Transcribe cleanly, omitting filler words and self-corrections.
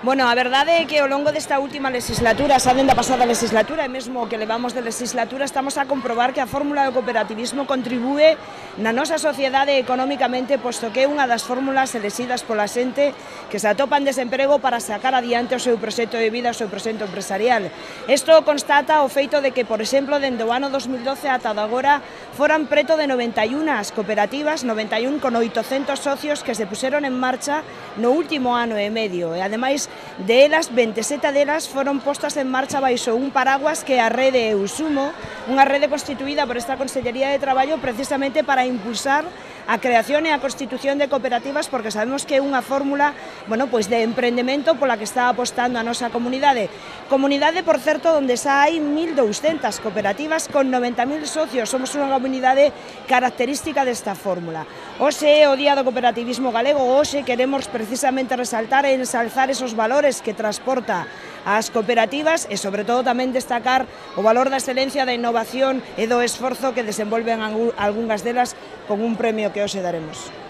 Bueno, a verdade é que ao longo desta última legislatura, xa dende a pasada legislatura e mesmo que levamos de legislatura, estamos a comprobar que a fórmula do cooperativismo contribúe na nosa sociedade económicamente, posto que é unha das fórmulas elexidas pola xente que se atopa en desemprego para sacar adiante o seu proxecto de vida, o seu proxecto empresarial. Isto constata o feito de que, por exemplo, dende o ano 2012 ata agora foran preto de 91 as cooperativas, 91 con 800 socios que se puseron en marcha no último ano e medio, e ademais de elas, 27 delas foron postas en marcha baixo un paraguas que é a rede Eusumo, unha rede constituída por esta Consellería de Traballo precisamente para impulsar a creación e a constitución de cooperativas, porque sabemos que é unha fórmula, bueno, pois de emprendemento pola que está apostando a nosa comunidade. Comunidade, por certo, onde xa hai 1.200 cooperativas con 90.000 socios. Somos unha comunidade característica desta fórmula. Hoxe é o Día do Cooperativismo Galego, hoxe queremos precisamente resaltar e ensalzar esos valores que transporta as cooperativas e, sobre todo, tamén destacar o valor da excelencia, da innovación e do esforzo que desenvolven algunhas delas con un premio que hoxe daremos.